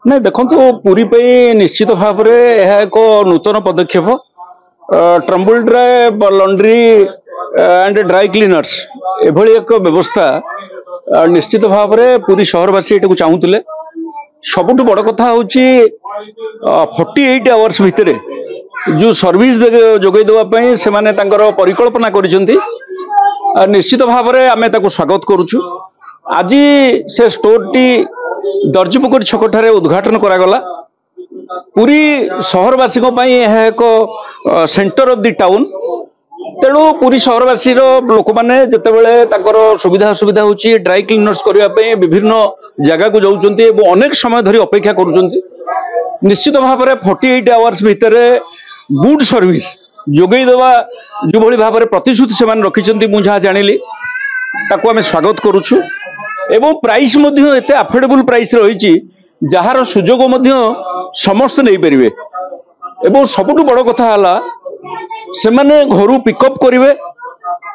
ନାଇଁ, ଦେଖନ୍ତୁ, ପୁରୀ ପାଇଁ ନିଶ୍ଚିତ ଭାବରେ ଏହା ଏକ ନୂତନ ପଦକ୍ଷେପ। Tumble Dry Laundry and Dry Cleaners ଏଭଳି ଏକ ବ୍ୟବସ୍ଥା ନିଶ୍ଚିତ ଭାବରେ ପୁରୀ ସହରବାସୀ ଏଟାକୁ ଚାହୁଁଥିଲେ। ସବୁଠୁ ବଡ଼ କଥା ହେଉଛି, 48 ଆୱାର୍ସ ଭିତରେ ଯେଉଁ ସର୍ଭିସ ଯୋଗାଇ ଦେବା ପାଇଁ ସେମାନେ ତାଙ୍କର ପରିକଳ୍ପନା କରିଛନ୍ତି, ନିଶ୍ଚିତ ଭାବରେ ଆମେ ତାକୁ ସ୍ୱାଗତ କରୁଛୁ। ଆଜି ସେ ଷ୍ଟୋରଟି ଦର୍ଜିପୋଖରୀ ଛକଠାରେ ଉଦ୍ଘାଟନ କରାଗଲା। ପୁରୀ ସହରବାସୀଙ୍କ ପାଇଁ ଏହା ଏକ ସେଣ୍ଟର ଅଫ the town. ତେଣୁ ପୁରୀ ସହରବାସୀର ଲୋକମାନେ ଯେତେବେଳେ ତାଙ୍କର ସୁବିଧା ଅସୁବିଧା ହେଉଛି, ଡ୍ରାଇ କ୍ଲିନର୍ସ କରିବା ପାଇଁ ବିଭିନ୍ନ ଜାଗାକୁ ଯାଉଛନ୍ତି ଏବଂ ଅନେକ ସମୟ ଧରି ଅପେକ୍ଷା କରୁଛନ୍ତି, ନିଶ୍ଚିତ ଭାବରେ 48 ଆୱାର୍ସ ଭିତରେ ଗୁଡ୍ ସର୍ଭିସ ଯୋଗାଇ ଦେବା ଯେଉଁଭଳି ଭାବରେ ପ୍ରତିଶ୍ରୁତି ସେମାନେ ରଖିଛନ୍ତି, ମୁଁ ଯାହା ଜାଣିଲି, ତାକୁ ଆମେ ସ୍ୱାଗତ କରୁଛୁ। ଏବଂ ପ୍ରାଇସ୍ ମଧ୍ୟ ଏତେ ଆଫୋର୍ଡେବୁଲ ପ୍ରାଇସ୍ ରହିଛି, ଯାହାର ସୁଯୋଗ ମଧ୍ୟ ସମସ୍ତେ ନେଇପାରିବେ। ଏବଂ ସବୁଠୁ ବଡ଼ କଥା ହେଲା, ସେମାନେ ଘରୁ ପିକଅପ୍ କରିବେ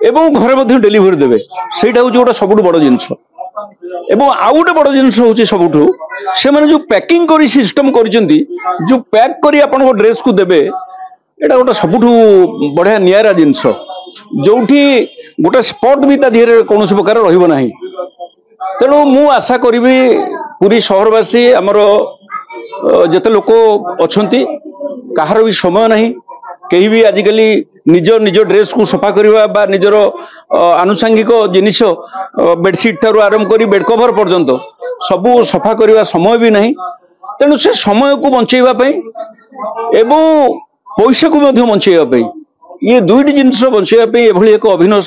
ଏବଂ ଘରେ ମଧ୍ୟ ଡେଲିଭରି ଦେବେ। ସେଇଟା ହେଉଛି ଗୋଟେ ସବୁଠୁ ବଡ଼ ଜିନିଷ। ଏବଂ ଆଉ ଗୋଟେ ବଡ଼ ଜିନିଷ ହେଉଛି ସବୁଠୁ, ସେମାନେ ଯୋଉ ପ୍ୟାକିଂ କରି ସିଷ୍ଟମ କରିଛନ୍ତି, ଯୋଉ ପ୍ୟାକ୍ କରି ଆପଣଙ୍କ ଡ୍ରେସକୁ ଦେବେ, ଏଇଟା ଗୋଟେ ସବୁଠୁ ବଢ଼ିଆ ନିଆରା ଜିନିଷ, ଯୋଉଠି ଗୋଟେ ସ୍ପଟ୍ ବି ତା ଦେହରେ କୌଣସି ପ୍ରକାର ରହିବ ନାହିଁ। ତେଣୁ ମୁଁ ଆଶା କରିବି, ପୁରୀ ସହରବାସୀ ଆମର ଯେତେ ଲୋକ ଅଛନ୍ତି, କାହାର ବି ସମୟ ନାହିଁ। କେହି ବି ଆଜିକାଲି ନିଜ ନିଜ ଡ୍ରେସକୁ ସଫା କରିବା ବା ନିଜର ଆନୁଷାଙ୍ଗିକ ଜିନିଷ, ବେଡସିଟ୍ ଠାରୁ ଆରମ୍ଭ କରି ବେଡ୍ କଭର ପର୍ଯ୍ୟନ୍ତ ସବୁ ସଫା କରିବା ସମୟ ବି ନାହିଁ। ତେଣୁ ସେ ସମୟକୁ ବଞ୍ଚେଇବା ପାଇଁ ଏବଂ ପଇସାକୁ ମଧ୍ୟ ବଞ୍ଚେଇବା ପାଇଁ, ଇଏ ଦୁଇଟି ଜିନିଷ ବଞ୍ଚେଇବା ପାଇଁ ଏଭଳି ଏକ ଅଭିନବ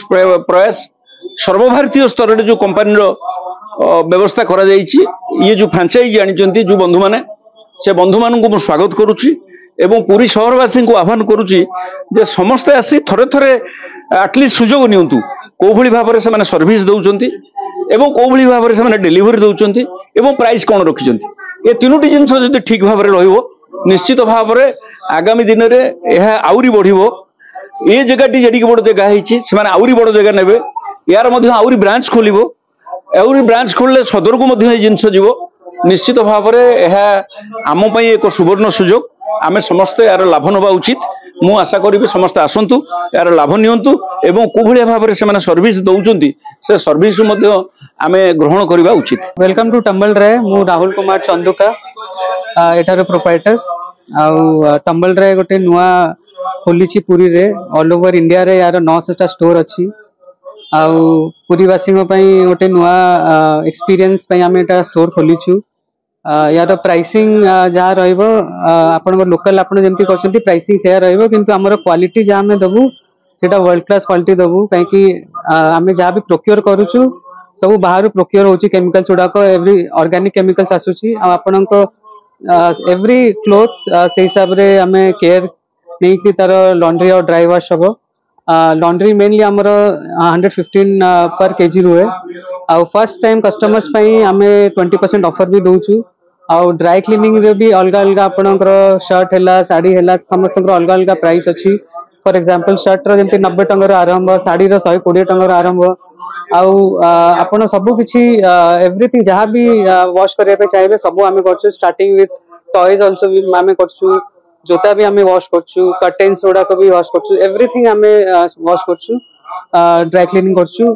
ପ୍ରୟାସ ସର୍ବଭାରତୀୟ ସ୍ତରରେ ଯୋଉ କମ୍ପାନୀର ବ୍ୟବସ୍ଥା କରାଯାଇଛି, ଇଏ ଯୋଉ ଫ୍ରାଞ୍ଚାଇଜି ଆଣିଛନ୍ତି ଯୋଉ ବନ୍ଧୁମାନେ, ସେ ବନ୍ଧୁମାନଙ୍କୁ ମୁଁ ସ୍ୱାଗତ କରୁଛି ଏବଂ ପୁରୀ ସହରବାସୀଙ୍କୁ ଆହ୍ୱାନ କରୁଛି ଯେ ସମସ୍ତେ ଆସି ଥରେ ଥରେ ଆଟଲିଷ୍ଟ ସୁଯୋଗ ନିଅନ୍ତୁ, କୋଉଭଳି ଭାବରେ ସେମାନେ ସର୍ଭିସ ଦଉଛନ୍ତି ଏବଂ କୋଉଭଳି ଭାବରେ ସେମାନେ ଡେଲିଭରି ଦଉଛନ୍ତି ଏବଂ ପ୍ରାଇସ୍ କ'ଣ ରଖିଛନ୍ତି। ଏ ତିନୋଟି ଜିନିଷ ଯଦି ଠିକ ଭାବରେ ରହିବ, ନିଶ୍ଚିତ ଭାବରେ ଆଗାମୀ ଦିନରେ ଏହା ଆହୁରି ବଢିବ। ଏ ଜାଗାଟି ଯେଡ଼ିକି ବଡ଼ ଜାଗା ହେଇଛି, ସେମାନେ ଆହୁରି ବଡ଼ ଜାଗା ନେବେ, ୟାର ମଧ୍ୟ ଆହୁରି ବ୍ରାଞ୍ଚ ଖୋଲିବ। ଆହୁରି ବ୍ରାଞ୍ଚ ଖୋଲିଲେ ସଦରକୁ ମଧ୍ୟ ଏଇ ଜିନିଷ ଯିବ। ନିଶ୍ଚିତ ଭାବରେ ଏହା ଆମ ପାଇଁ ଏକ ସୁବର୍ଣ୍ଣ ସୁଯୋଗ। ଆମେ ସମସ୍ତେ ଏହାର ଲାଭ ନେବା ଉଚିତ। ମୁଁ ଆଶା କରିବି, ସମସ୍ତେ ଆସନ୍ତୁ, ଏହାର ଲାଭ ନିଅନ୍ତୁ ଏବଂ କୋଉଭଳିଆ ଭାବରେ ସେମାନେ ସର୍ଭିସ ଦଉଛନ୍ତି, ସେ ସର୍ଭିସ ମଧ୍ୟ ଆମେ ଗ୍ରହଣ କରିବା ଉଚିତ। Welcome to Tumble Dry. ମୁଁ ରାହୁଲ କୁମାର ଚନ୍ଦୁକା, ଏଠାର ପ୍ରୋପାଇଟର। ଆଉ ଟମ୍ବଲ ଡ୍ରାଏ ଗୋଟେ ନୂଆ ଖୋଲିଛି ପୁରୀରେ। ଅଲ୍ ଓଭର ଇଣ୍ଡିଆରେ ୟାର 900ଟା ଷ୍ଟୋର ଅଛି। ଆଉ ପୁରୀବାସୀଙ୍କ ପାଇଁ ଗୋଟେ ନୂଆ ଏକ୍ସପିରିଏନ୍ସ ପାଇଁ ଆମେ ଏଟା ଷ୍ଟୋର ଖୋଲିଛୁ। ୟାର ପ୍ରାଇସିଂ ଯାହା ରହିବ, ଆପଣଙ୍କ ଲୋକାଲ ଆପଣ ଯେମିତି କରୁଛନ୍ତି, ପ୍ରାଇସିଂ ସେୟା ରହିବ। କିନ୍ତୁ ଆମର କ୍ୱାଲିଟି ଯାହା ଆମେ ଦେବୁ, ସେଇଟା ୱାର୍ଲଡ କ୍ଲାସ କ୍ୱାଲିଟି ଦେବୁ, କାହିଁକି ଆମେ ଯାହା ବି ପ୍ରୋକ୍ୟୁର କରୁଛୁ, ସବୁ ବାହାରୁ ପ୍ରୋକ୍ୟୁର ହଉଛି। କେମିକାଲ୍ସ ଗୁଡାକ ଏଭ୍ରି ଅର୍ଗାନିକ କେମିକାଲ୍ସ ଆସୁଛି। ଆଉ ଆପଣଙ୍କ ଏଭ୍ରି କ୍ଲୋଥ୍ସ ସେଇ ହିସାବରେ ଆମେ କେୟାର ନେଇକି ତାର ଲଣ୍ଡ୍ରି ଆଉ ଡ୍ରାଇ ୱାଶ ହବ। ଲଣ୍ଡ୍ରି ମେନଲି ଆମର 115 ପର କେଜି ରୁହେ। ଆଉ ଫାର୍ଷ୍ଟ ଟାଇମ୍ କଷ୍ଟମର୍ସ ପାଇଁ ଆମେ 20% ଅଫର ବି ଦଉଛୁ। ଆଉ ଡ୍ରାଇ କ୍ଲିନିଂରେ ବି ଅଲଗା ଅଲଗା, ଆପଣଙ୍କର ସାର୍ଟ ହେଲା, ଶାଢୀ ହେଲା, ସମସ୍ତଙ୍କର ଅଲଗା ଅଲଗା ପ୍ରାଇସ୍ ଅଛି। ଫର ଏକ୍ସାମ୍ପଲ, ସାର୍ଟର ଯେମିତି 90 ଟଙ୍କାରୁ ଆରମ୍ଭ, ଶାଢୀର 120 ଟଙ୍କାରୁ ଆରମ୍ଭ। ଆଉ ଆପଣ ସବୁ କିଛି, ଏଭ୍ରିଥିଙ୍ଗ ଯାହା ବି ୱାଶ କରିବା ପାଇଁ ଚାହିଁବେ, ସବୁ ଆମେ କରୁଛୁ। ଷ୍ଟାର୍ଟିଂ ୱିଥ୍ ଟଏଜ ଅଲସୋ ବି ଆମେ କରୁଛୁ, ଜୋତା ବି ଆମେ ୱାଶ କରୁଛୁ, କର୍ଟେନ୍ସ ଗୁଡାକ ବି ୱାଶ କରୁଛୁ, ଏଭ୍ରିଥିଙ୍ଗ ଆମେ ୱାଶ କରୁଛୁ, ଡ୍ରାଇ କ୍ଲିନିଂ କରୁଛୁ।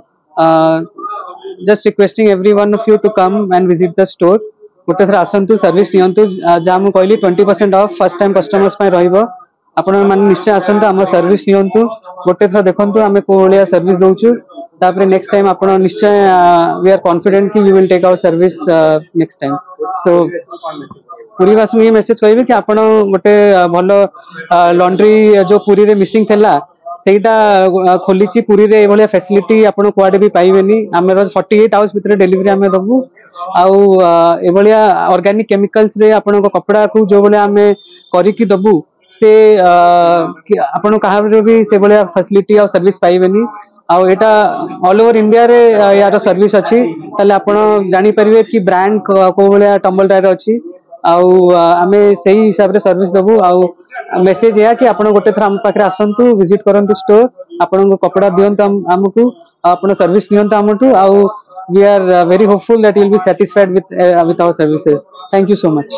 Just requesting every one of you to come and visit the store. ଗୋଟେ ଥର ଆସନ୍ତୁ, ସର୍ଭିସ ନିଅନ୍ତୁ। ଯାହା ମୁଁ କହିଲି, 20% ଅଫ୍ ଫାର୍ଷ୍ଟ ଟାଇମ୍ କଷ୍ଟମର୍ସ ପାଇଁ ରହିବ। ଆପଣ ମାନେ ନିଶ୍ଚୟ ଆସନ୍ତୁ, ଆମ ସର୍ଭିସ ନିଅନ୍ତୁ, ଗୋଟେ ଥର ଦେଖନ୍ତୁ ଆମେ କୋଉ ଭଳିଆ ସର୍ଭିସ ଦଉଛୁ। ତାପରେ ନେକ୍ସଟ ଟାଇମ୍ ଆପଣ ନିଶ୍ଚୟ, we are confident କି you will take our service next time. So ପୁରୀବାସୀଙ୍କୁ A message କହିବି କି ଆପଣ ଗୋଟେ ଭଲ ଲଣ୍ଡ୍ରି ଯୋଉ ପୁରୀରେ ମିସିଂ ଥିଲା, ସେଇଟା ଖୋଲିଛି ପୁରୀରେ। ଏଇଭଳିଆ ଫ୍ୟାସିଲିଟି ଆପଣ କୁଆଡେ ବି ପାଇବେନି। ଆମର 48 ଆୱାର୍ସ ଭିତରେ ଡେଲିଭରି ଆମେ ଦବୁ। ଆଉ ଏଭଳିଆ ଅର୍ଗାନିକ କେମିକାଲ୍ସ ରେ ଆପଣଙ୍କ କପଡାକୁ ଯୋଉ ଭଳିଆ ଆମେ କରିକି ଦବୁ, ସେ ଆପଣ କାହାର ବି ସେଭଳିଆ ଫ୍ୟାସିଲିଟି ଆଉ ସର୍ଭିସ ପାଇବେନି। ଆଉ ଏଇଟା ଅଲ୍ ଓଭର ଇଣ୍ଡିଆରେ ୟାର ସର୍ଭିସ ଅଛି। ତାହେଲେ ଆପଣ ଜାଣିପାରିବେ କି ବ୍ରାଣ୍ଡ କୋଉ ଭଳିଆ ଟମ୍ବଲ ଡ୍ରାଏର ଅଛି ଆଉ ଆମେ ସେଇ ହିସାବରେ ସର୍ଭିସ ଦବୁ। ଆଉ ମେସେଜ ଏହା କି ଆପଣ ଗୋଟେ ଥର ଆମ ପାଖରେ ଆସନ୍ତୁ, ଭିଜିଟ କରନ୍ତୁ ଷ୍ଟୋର, ଆପଣଙ୍କ କପଡା ଦିଅନ୍ତୁ ଆମକୁ, ଆଉ ଆପଣ ସର୍ଭିସ ନିଅନ୍ତୁ ଆମଠୁ। ଆଉ we are very hopeful that you will be satisfied with our services. Thank you so much.